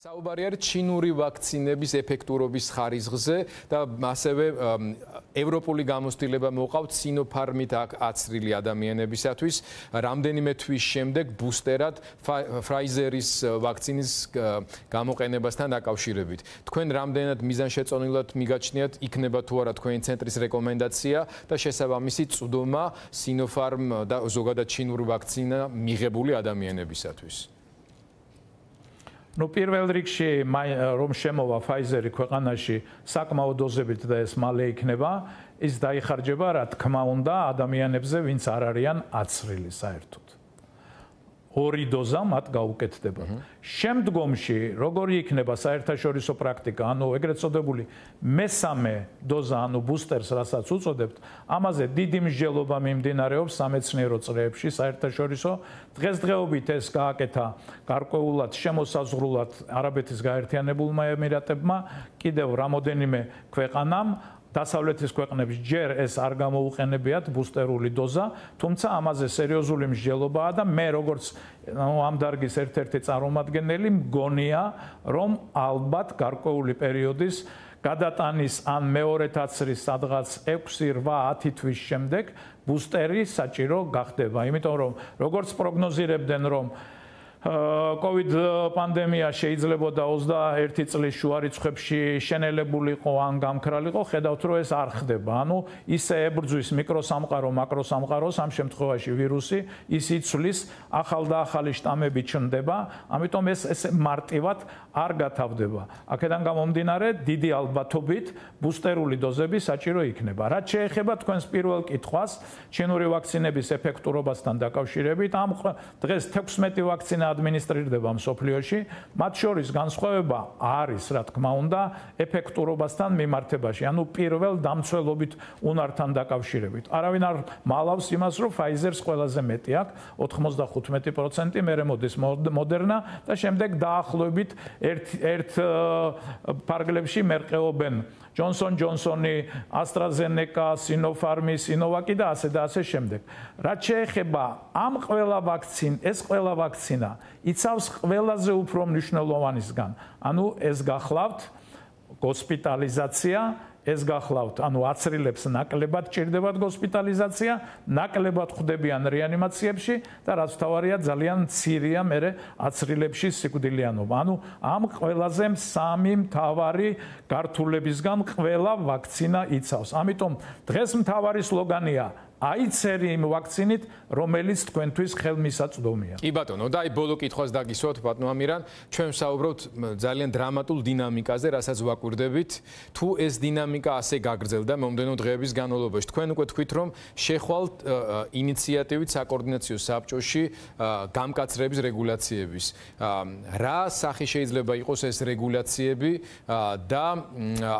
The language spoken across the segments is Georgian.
საუბარი არის ჩინური ვაქცინების ეფექტურობის ხარისხზე და ასევე ევროპული გამოცდილება მოყავთ სინოფარმით აცრილი ადამიანებისათვის რამდენიმე თვის შემდეგ ბუსტერად Pfizer-ის ვაქცინის გამოყენებასთან დაკავშირებით. თქვენ რამდენად მიზანშეწონილად მიგაჩნიათ იქნება თუ არა თქვენი ცენტრის რეკომენდაცია და შესაბამისი წვდომა Sinopharm და ზოგადად ჩინური ვაქცინა მიღებული ადამიანებისათვის? Ну, პირველ რიგში რომ შემოვა Pfizer-ი ქვეყანაში საკმაო დოზებით და ეს მალე იქნება, ის დაიხარჯება, რა თქმა უნდა, ადამიანებზე, ვინც არ არიან აცრილი საერთოდ. ორი დოზა მათ გაუკეთდება. შემდგომში, როგორი იქნება საერთაშორისო პრაქტიკა, ანუ ეგრეთ წოდებული მესამე დოზა, ანუ ბუსტერს, რასაც უწოდებთ, ამაზე დიდი მსჯელობა მიმდინარეობს სამეცნიერო წრეებში საერთაშორისო. დღესდღეობით ეს გააკეთა გარკვეულად შემოსაზღვრულად არაბეთის გაერთიანებულმა ემირატებმა, კიდევ რამოდენიმე ქვეყანამ. დასავლეთის ქვეყნებს ჯერ ეს არ გამოუყენებიათ ბუსტერული დოზა, თუმცა ამაზე სერიოზული მსჯელობაა და მე როგორც ამ დარგის ერთ-ერთი წარმომადგენელი მგონია, რომ ალბათ გარკვეული პერიოდის გადატანის ან მეორე თაცრის სადღაც 6-8-10 თვის შემდეგ ბუსტერი საჭირო გახდება, იმიტომ რომ როგორც პროგნოზირებდნენ, რომ COVID პანდემია შეიძლებოდა 21 წლის შუა რიცხვებში შენელებულიყო ან გამქრალიყო, ხედავთ რომ ეს არ ხდება. ანუ ისე ებრძვის მიკროსამყარო, მაკროსამყაროს, ამ შემთხვევაში ვირუსი, ის იცვლის, ახალ და ახალი შტამები ჩნდება, ამიტომ ეს მარტივად არ გათავდება. აქედან გამომდინარე, დიდი ალბათობით ბუსტერული დოზები საჭირო იქნება. რაც შეეხება თქვენს პირველ კითხვას, ჩინური ვაქცინების ეფექტურობასთან დაკავშირებით, ამ დღეს 16 ვაქცინა ადმინისტრირდება მსოფლიოში, მათ შორის განსხვავება არის, რა თქმა უნდა, ეფექტურობასთან მიმართებაში, ანუ პირველ დამცველობით უნართან დაკავშირებით. არავინ არ მალავს იმას, რომ Pfizer-ს ყველაზე მეტი აქვს, 95%, მერე მოდის Moderna და შემდეგ დაახლოებით ერთ ფარგლებში მერყეობენ Johnson Johnson-ი, AstraZeneca, Sinopharm-ი, Sinovac-ი და ასე შემდეგ. რაც შეეხება ამ ყველა ეს ყველა ვაქცინა იცავს ყველაზე უფრო მნიშვნელოვანისგან. ანუ ეს გახლავთ ჰოსპიტალიზაცია, ეს გახლავთ, ანუ აცრილებს ნაკლებად ჭირდებათ ჰოსპიტალიზაცია, ნაკლებად ხვდებიან რეანიმაციებში და რაც თავარია ძალიან მცირეა მერე აცრილებში სიკვდილიანობა. ანუ ამ ყველაზე სამი მთავარი გართულებისგან ყველა ვაქცინა იცავს. ამიტომ დღეს მთავარი სლოგანია აიცერი იმ ვაქცინით, რომელიც თქვენთვის ხელმისაწვდომია. კი ბატონო, და აი ბოლო კითხვას დაგისვათ, ბატონო ამირან, ჩვენ ვსაუბრობთ ძალიან დრამატულ დინამიკაზე, რასაც ვაკვირდებით. თუ ეს დინამიკა ასე გაგრძელდა მომდენო დღეების განმავლობაში, თქვენ უკვე თქვით, რომ შეხვალთ ინიციატივით საკოორდინაციო საბჭოში გამკაცრების რეგულაციების. რა სახის შეიძლება იყოს ეს რეგულაციები და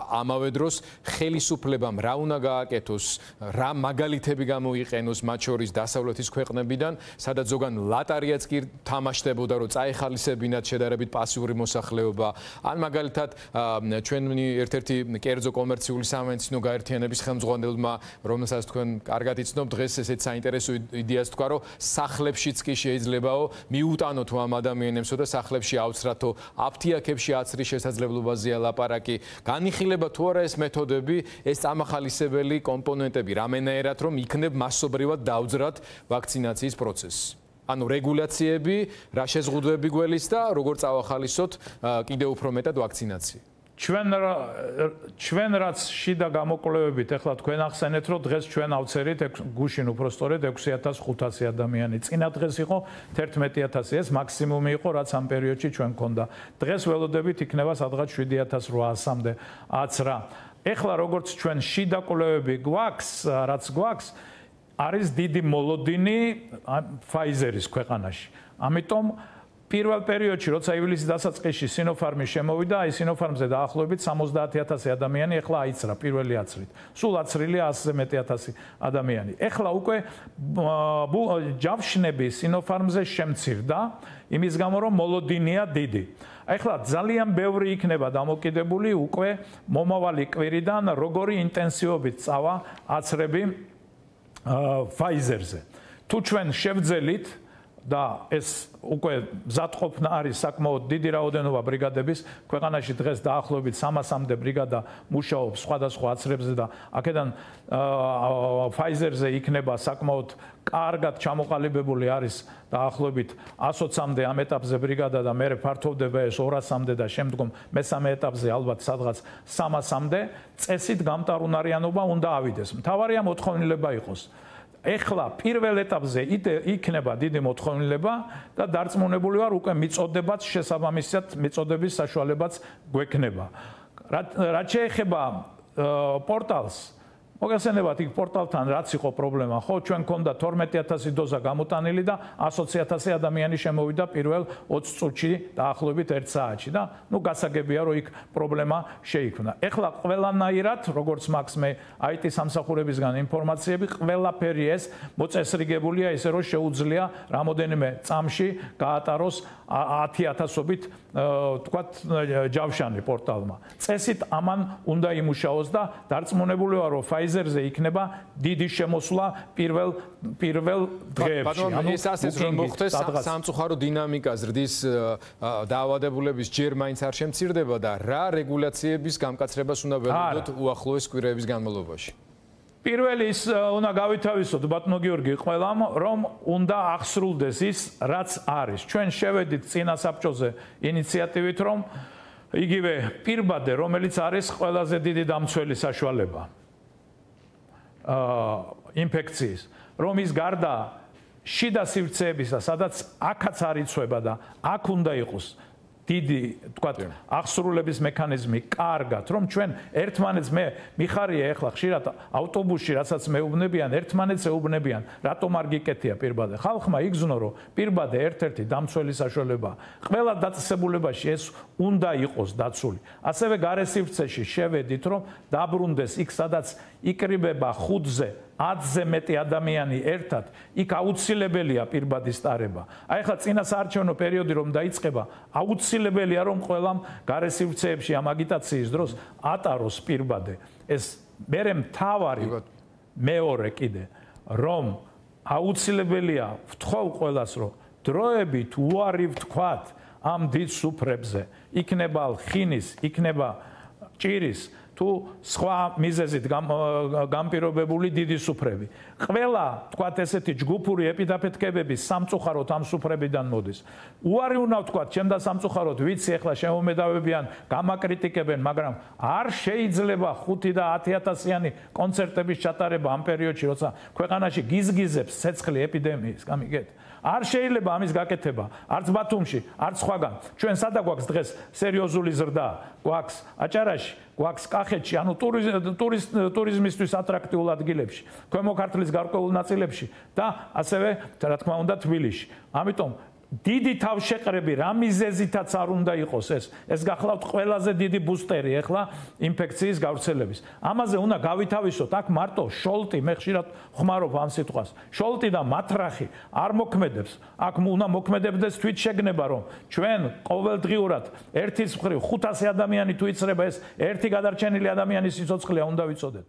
ამავე დროს ხელისუფლებამ რა უნდა გააკეთოს, რა მაგალითები გამოიყენოს მათ შორის დასავლეთის ქვეყნებიდან, სადაც ზოგან ლატარიაც კი თამაშდებოდა, რომ წაეხალისებინათ შედარებით პასიური მოსახლეობა, ან მაგალითად ჩვენი ერთ-ერთი კერძო კომერციული სამეცნიერო გაერთიანების ხელმძღვანელმა, რომელსაც თქვენ კარგად იცნობთ, დღეს ესეც საინტერესო იდეას თქვა, რომ სახლებშიც კი შეიძლებაო მიუტანოთ ამ ადამიანებსო და სახლებში აუცრათო აფთიაქებში აცრის შესაძლებლობაზეა ლაპარაკი. განიხილება თუ არა ეს მეთოდები, ეს წამახალისებელი კომპონენტები, რამენაერად რომ იქნებ მასობრივად დაუძრათ ვაქცინაციის პროცესს. ანუ რეგულაციები, რა შეზღუდვები გველის და როგორ წავახალისოთ კიდევ უფრო მეტად ვაქცინაცია. ჩვენ რაც შიდა გამოკვლევებით ახლა თქვენ ახსენეთ, რომ დღეს ჩვენ ავწერით გუშინ უпростоრედ 6500 ადამიანი. წინა დღეს იყო 11000, ეს მაქსიმუმი იყო, რაც ამ პერიოდში ჩვენ გქონდა. დღეს ველოდებით იქნება სადღაც 7800-მდე აცრა. ეხლა როგორც ჩვენ შიდა კვლევები გვაქვს, რაც გვაქვს, არის დიდი მოლოდინი Pfizer-ის ქვეყანაში. ამიტომ პირველ პერიოდში, როცა ივლისის დასაწყისში Sinopharm-ი შემოვიდა, აი Sinopharm-ზე დაახლოებით 70000 ადამიანი ეხლა აიცრა პირველი აცრით. სულ აცრილია 100000 ადამიანი. ეხლა უკვე ჯავშნები Sinopharm-ზე შემცირდა, იმის გამო რომ მოლოდინია დიდი. ეხლა ძალიან ბევრი იქნება დამოკიდებული უკვე მომავალი კვირიდან, როგორი ინტენსივობით წავა აცრები Pfizer-ზე. თუ ჩვენ შევძელით და ეს უკვე მზადყოფნა არის საკმაოდ დიდი რაოდენობა ბრიგადების. ქვეყანაში დღეს დაახლოებით 300-მდე ბრიგადა მუშაობს სხვადასხვა აცრებზე და აქედან Pfizer-ზე იქნება საკმაოდ კარგად ჩამოყალიბებული არის დაახლოებით 120-მდე ამ ეტაპზე ბრიგადა და მე ფართოვდება ეს 200-მდე და შემდგომ მესამე ეტაპზე ალბათ სადღაც 300-მდე წესით გამტარუნარიანობა უნდა ავიდეს. მთავარია მოთხოვნილება იყოს. ეხლა პირველ ეტაპზე იქნება დიდი მოთხოვნილება და დარწმუნებული ვარ უკვე მიწოდებაც შესაბამისად მიწოდების საშუალებაც გვექნება. რაც შეეხება პორტალს მოგესალმებათ იქ პორტალთან რაც იყო პრობლემა ხო ჩვენ გქონდა 12000 დოზა გამოტანილი და 100000 ადამიანი შემოვიდა პირველ 20 წუთში დაახლოებით 1 საათში და ნუ გასაგებია რომ იქ პრობლემა შეიქმნა. ეხლა ყველანაირად როგორც მაქვს მე IT სამსახურებისგან ინფორმაციები ყველაფერი ეს მოწესრიგებულია ისე რომ შეუძლია რამოდენიმე წამში გაატაროს 10000-ობით თქვათ ჯავშანი პორტალმა. წესით ამან უნდა იმუშაოს და დარწმუნებული ვარ რომ Pfizer-ზე იქნება დიდი შემოსვლა პირველ დღეებში. ანუ ეს ასეც რომ მოხდეს სამწუხარო დინამიკა ზრდის დაავადებულების ჯერ მაინც არ შემცირდება და რა რეგულაციების გამკაცრებას უნდა ველოდოთ უახლოეს კვირების განმავლობაში. პირველი ის უნდა გავითავისოთ ბატონო გიორგი ყველამ რომ უნდა აღსრულდეს ის რაც არის. ჩვენ შევედით წინა საბჭოზე ინიციატივით რომ იგივე პირბადე რომელიც არის ყველაზე დიდი დამცველი საშუალება ინფექციის რომ ის გარდა შიდა სივრცეებისა სადაც აქაც არ იცვება და აქ უნდა იყოს დიდი თქვათ აღსრულების მექანიზმი კარგად რომ ჩვენ ერთმანეთს მე მიხარია ეხლა ხშირად ავტობუსში რასაც მეუბნებიან ერთმანეთს ეუბნებიან რატომ არ გიკეთია პირბადე ხალხმა იგზნო რომ პირბადე ერთ-ერთი დამცველი საშუალებაა ყველა დაწესებულებაში ეს უნდა იყოს დაცული ასევე გარე სივრცეში შევედით რომ დაბრუნდეს იქ სადაც იკრიბება 5-ზე 10-ზე მეტი ადამიანი ერთად, იქ აუცილებელია პირბადის ტარება. აი ახლა წინა საარჩევნო პერიოდი რომ დაიწყება, აუცილებელია რომ ყველამ გარე სივრცეებში ამ აგიტაციის დროს ატაროს პირბადე. ეს მერე მთავარი მეორე კიდე რომ აუცილებელია ვთხოვ ყველას რომ დროებით უარი ვთქვათ ამ დიდ სუფრებზე. იქნება ხინის, იქნება ჭირის თუ სხვა მიზეზით გამპირობებული დიდი სუფრები. ყველა, თქვათ ესეთი ჯგუფური ეპიდაფეთქებების სამწუხაროდ ამ სუფრებიდან მოდის. უარი უნდა ვთქვათ, ჩემ და სამწუხაროდ ვიცი ახლა შემომედავებიან, გამაკრიტიკებენ, მაგრამ არ შეიძლება 5 და 10000-იანი კონცერტების ჩატარება ამ პერიოდში, როცა ქვეყანაში გიზგიზებს ცეცხლი ეპიდემიის, გამიგეთ? არ შეიძლება ამის გაკეთება, არც ბათუმში, არც სხვაგან. ჩვენ სადა გვაქვს დღეს სერიოზული ზრდა, გვაქვს აჭარაში, გვაქვს კახეთში, ანუ ტურიზმისთვის ატრაქტიულ ადგილებში, ქვემო ქართლის გარკვეულ ნაწილებში და ასევე, რა თქმა უნდა, თბილისში. ამიტომ დიდი თავშეყრები რა მიზეზითაც არ უნდა იყოს ეს გახლავთ ყველაზე დიდი ბუსტერი ახლა ინფექციის გავრცელების. ამაზე უნდა გავითავისოთ, აქ მარტო შოლტი, მე ხშირად ხმარობ ამ სიტყვას. შოლტი და მათრახი არ მოქმედებს. აქ უნდა მოქმედებდეს თვითშეგნება, რომ ჩვენ ყოველდღიურად ერთის მხრივ 500 ადამიანი თუ იცრება ეს ერთი გადარჩენილი ადამიანის სიცოცხლეა უნდა ვიცოდეთ.